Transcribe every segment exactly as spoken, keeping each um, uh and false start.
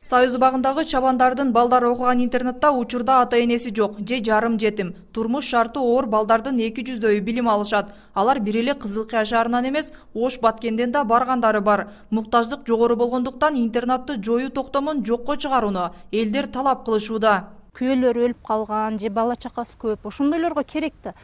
Союз убагындагы чабандардын балдары окуган интернатта учурда ата-энеси жок же жарым жетим, турмуш шарты оор балдардын эки жүздөйү билим алышат. Алар бир эле Кызылкыя шаарынан эмес, Ош Баткенден да баргандары бар. Муктаждык жогору болгондуктан интернатты жоюу токтомун жокко чыгарууну элдер талап кылышууда. Күйөлөр өлүп калган же бала чакасы көп, ошондойлорго керек да.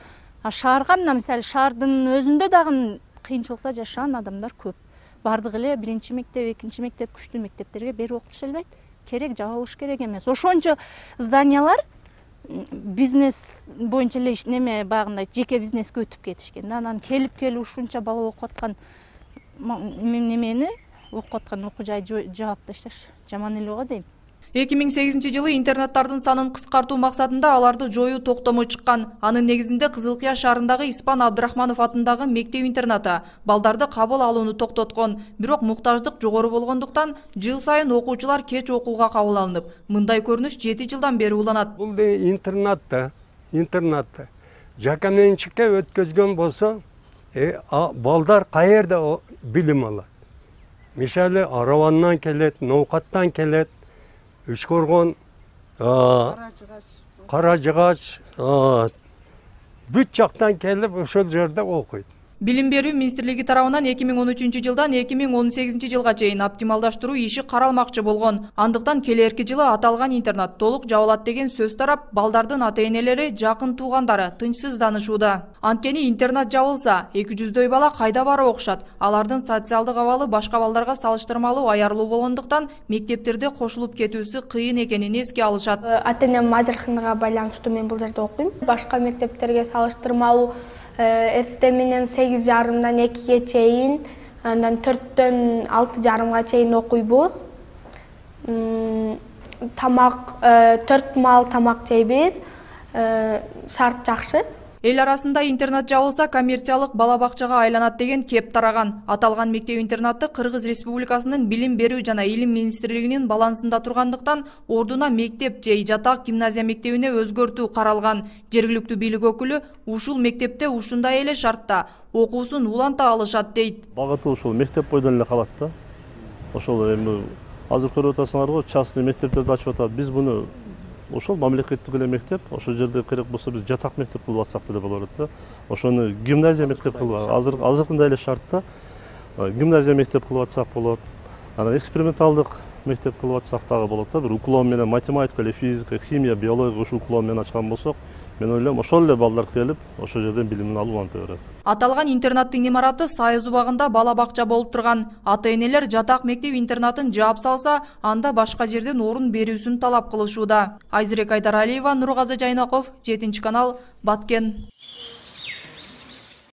А шаарга мына мисалы шаардын өзүндө дагы кыйынчылыкта жашаган адамдар көп. Бардык эле биринчи мектеп, экинчи мектеп, күчтүү мектептерге берип окутуша албайт. Керек, жабылыш керек эмес. Ошончо зданиялар бизнес боюнча эле неме багындай жеке бизнеске өтүп кетишкен. Анан келип келип ушунча бала окуп аткан немени окуп аткан окуу жайды жаап ташташ жаман эле го дейм. эки миң сегизинчи жылы интернаттардын санын кыскартуу максатында аларды жоюу токтому чыккан. Анын негизинде Кызылкыя шаарындагы Испан Абдрахманов атындагы мектеп-интернаты балдарды кабыл алууну токтоткон. Бирок муктаждык жогору болгондуктан жыл сайын окуучулар кеч окууга кабыл алынып, мындай көрүнүш жети жылдан бери уланат. Бул интернатта, интернатта жакаменчикке өткөзгөн болсо, балдар каерде билим алат? Мисалы, Аравандан келет, Ноокаттан келет, Үшкоргон, Кара Жыгач, бүт жактан келип ошол жерде окуйт. Билим берүү министрлиги тарабынан эки миң он үчүнчү жылдан эки миң он сегизинчи жылга чейин оптималдаштыруу иши каралмакчы болгон. Андыктан келерки жылы аталган интернат толук жабылат деген сөз тарап, балдардын ата-энелери, жакын туугандары тынчсызданышууда. Анткени интернат жабылса, эки жүздөй бала кайда барып окушат? Алардын социалдык абалы башка балдарга салыштырмалуу аярлуу болгондуктан мектептерде кошулуп кетүүсү кыйын экенин эске алышат. Ата-энем ажырашканга байланыштуу мен бул жерде окуйм. Башка мектептерге салыштырмалуу эртең менен сегиз жарымдан экиге чейин, андан төрттөн алты жарымга чейин окуйбуз. Тамак, төрт маал тамак жейбиз. Шарт жакшы. Эл арасында интернат жабылса, коммерциялык бала бакчага айланат деген кеп тараган. Аталган мектеп-интернатты Кыргыз Республикасынын Билим берүү жана Илим министрлигинин балансында тургандыктан ордуна мектеп же жатак гимназия мектебине өзгөртүү каралган. Жергиликтүү бийлик өкүлү ушул мектепте ушундай эле шартта окуусун уланта алышат дейт. Багыты ушул мектеп бойдон эле калат да. Ошол эми азыр көрүп атасыңарбы, частный мектептерди ачып атат. Биз буну ошол мамлекеттик эле мектеп, ошол жерде керек болсо биз жатак мектеп кылып атсак деле болот да. Ошону гимназия мектеп кылып, азыр азыркындай эле шартта гимназия мектеп кылып атсак болот. Анан эксперименталдык мектеп кылып атсак дагы болот да. Бир уклон менен математика, физика, химия, биология ушул уклон менен ачкан болсок, мен ойлойм ошол эле балдар келип, ошол жерден билимин алып уланта берет. Аталган интернаттын имараты Союз убагында бала бакча болуп турган. Ата-энелер жатак мектеп-интернатын жаап салса, анда башка жерден орун берүүсүн талап кылышууда. Айзирек Айдаралиева, Нургазы Жайнаков, жетинчи канал, Баткен.